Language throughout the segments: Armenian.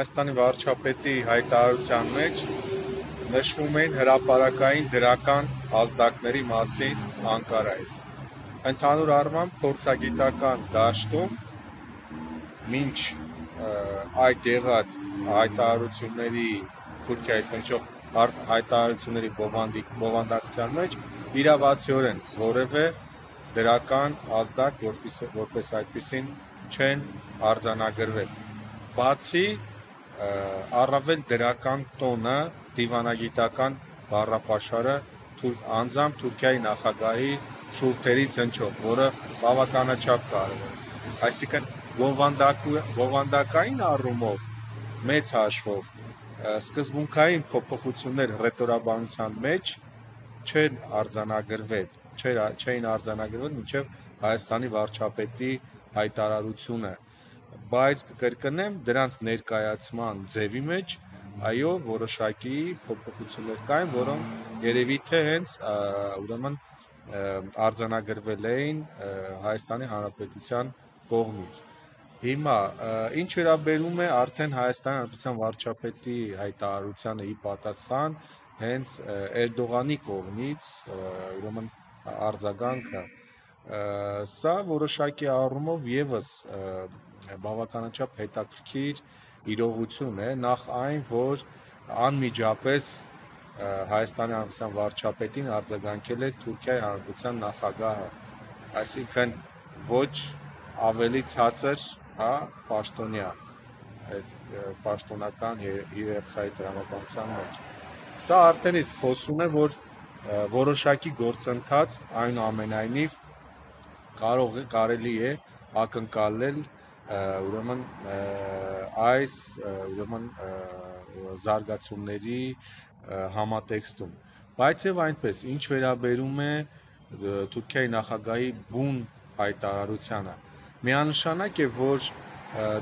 Հայաստանի վարչապետի հայտարարության մեջ նշվում էին հրապարակային դրական ազդակների մասին Անկարայից։ Ընդհանուր առմամբ փորձագիտական դաշտում մինչ այդ եղած հայտարարությունների Թուրքիայից հնչող հայտարարությունների բովանդակության մեջ իրավացիորեն որևէ դրական ազդակ որպես այդպիսին չեն արձանագրվել։ Բացի առավել դրական տոնը դիվանագիտական բառապաշարը անձամբ Թուրքիայի նախագահի շուրթերից հնչող, որը բավականաչափ կարևոր է։ Այսինքն բովանդակային առումով մեծ հաշվով սկզբունքային փոփոխություններ ռետորաբանության մեջ չէին արձանագրվել մինչև Հայաստանի վարչապետի հայտարարությունը, բայց կկրկնեմ դրանց ներկայացման ձևի մեջ այո որոշակի փոփոխություններ կային, որոնք երևի թե հենց ուրեմն արձանագրվել էին Հայաստանի Հանրապետության կողմից։ Հիմա ինչ վերաբերում է արդեն Հայաստանի Հանրապետության վարչապետի հայտարարությանը ի պատասխան հենց Էրդողանի կողմից ուրեմն արձագանքը, սա որոշակի առումով եւս բավականաչափ հետաքրքիր իրողություն է, նախ այն, որ անմիջապես Հայաստանի Հանրապետության վարչապետին արձագանքել է Թուրքիայի Հանրապետության նախագահը, այսինքն ոչ ավելի ցածր, պաշտոնյա այդ պաշտոնական հիերարխիայի տրամաբանության մեջ։ Սա արդեն իսկ խոսում է, որ որոշակի գործընթաց այնուամենայնիվ կարելի է ակնկալել ուրեմն այս զարգացումների համատեքստում, բայց եւ այնպես ինչ վերաբերում է Թուրքիայի նախագահի բուն հայտարարությանը, միանշանակ է, որ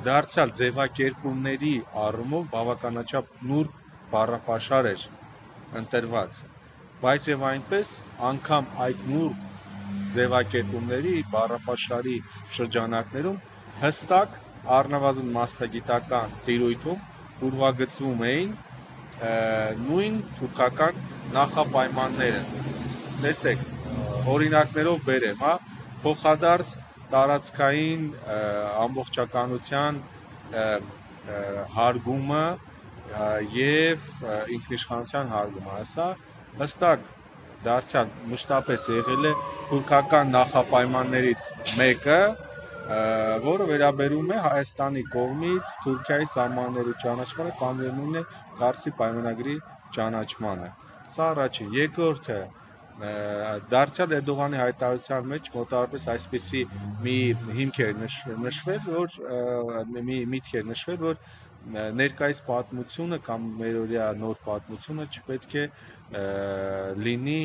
դարձյալ ձևակերպումների առումով բավականաչափ նուրբ բառապաշար էր ընտրված, բայց եւ այնպես անգամ այդ նուրբ ձևակերպումների բառապաշարի շրջանակներում հստակ առնվազն մասնագիտական տիրույթում ուրվագծվում էին նույն թուրքական նախապայմանները։ Տեսեք, օրինակներով բերեմ, փոխադարձ տարածքային ամբողջականության հարգումը եւ ինքնիշխանության հարգումը, սա հստակ դարձյալ մշտապես եղել է թուրքական նախապայմաններից մեկը, որը վերաբերում է Հայաստանի կողմից Թուրքիայի սահմանների ճանաչմանը կամ նույն է Կարսի պայմանագրի ճանաչմանը։ Սա առաջին, երկրորդը դարձյալ Էրդողանի հայտարարության մեջ մոտավորապես այսպիսի մի հիմք էր նշվել, որ ներկայիս պատմությունը կամ մերօրյա նոր պատմությունը չպետք է լինի,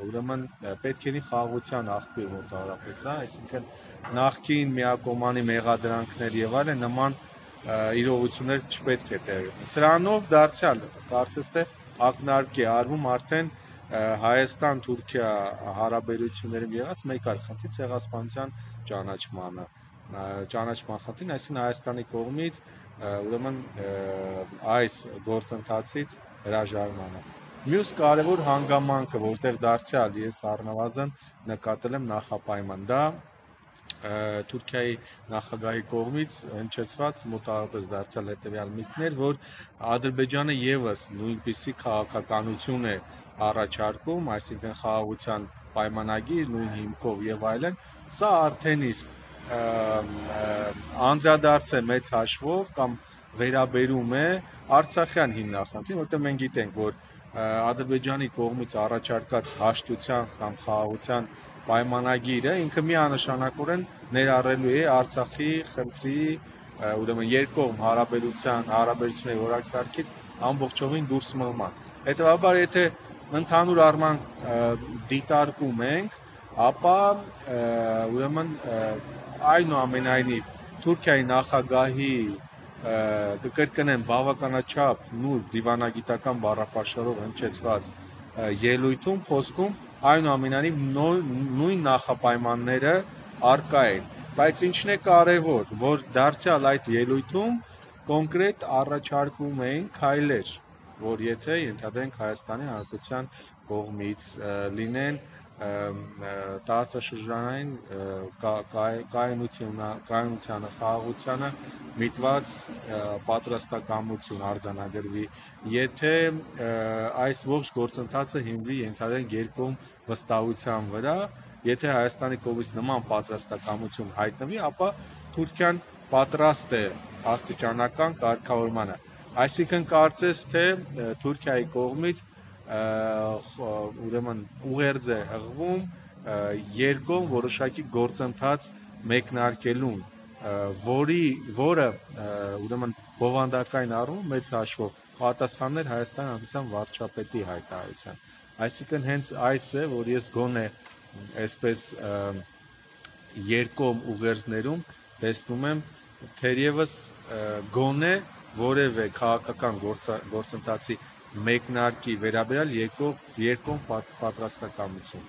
ուրեմն պետք է լինի խաղաղության աղբյուր մոտավորապես, այսինքն նախկին միակողմանի մեղադրանքներ եւ այլն նման իրողություններ չպետք է տեղի ունենան։ Սրանով դարձյալ կարծես թե ակնարկ է արվում արդեն Հայաստան-Թուրքիա հարաբերություններում եղած մեկ այլ խնդրի ցեղասպանության ճանաչման խնդրին, այսինքն Հայաստանի կողմից ուրեմն այս գործընթացից հրաժարմանը։ Մյուս կարևոր հանգամանքը, որտեղ դարձյալ ես առնվազն նկատել եմ նախապայման, դա Թուրքիայի նախագահի կողմից հնչեցված մոտավորապես դարձյալ հետևյալ միտքներ, որ Ադրբեջանը եւս նույնպիսի քաղաքականություն է առաջարկում, այսինքն խաղաղության պայմանագիր նույն հիմքով եւ այլն, սա արդեն իսկ անդրադարձ է մեծ հաշվով կամ վերաբերում է Արցախյան հիմնախնդրին, որտեղ մենք գիտենք, որ Ադրբեջանի կողմից առաջարկած հաշտության կամ խաղաղության պայմանագիրը ինքը միանշանակորեն ներառելու է Արցախի խնդրի ուրեմն երկկողմ հարաբերությունների օրակարգից ամբողջովին դուրս մղման։ Հետևաբար, եթե ընդհանուր առմամբ դիտարկում ենք, ապա ուրեմն այնուամենայնիվ Թուրքիայի նախագահի կկրկնեմ բավականաչափ նուրբ դիվանագիտական բառապաշարով հնչեցված ելույթում խոսքում այնուամենայնիվ նույն նախապայմանները առկա են, բայց ինչն է կարևոր, որ դարձյալ այդ ելույթում կոնկրետ առաջարկում էին քայլեր, որ եթե ենթադրենք Հայաստանի Հանրապետության կողմից լինեն տարածաշրջանային կայունությանը, խաղաղությանը միտված պատրաստակամություն արձանագրվի, եթե այս ողջ գործընթացը հիմնվի ենթադրենք երկկողմ վստահության վրա, եթե Հայաստանի կողմից նման պատրաստակամություն հայտնվի, ապա Թուրքիան պատրաստ է աստիճանական կարգավորմանը։ Այսինքն կարծես թե Թուրքիայի կողմից ուրեմն ուղերձ է հղվում երկկողմ որոշակի գործընթաց մեկնարկելուն, որը ուրեմն բովանդակային առումով մեծ հաշվով պատասխաններ Հայաստանի Հանրապետության վարչապետի հայտարարության։ Այսինքն հենց այս է, որ ես գոնե այսպես երկկողմ ուղերձներում տեսնում եմ թերևս գոնե որևէ քաղաքական գործընթացի մեկնարկի վերաբերյալ երկկողմ պատրաստակամություն։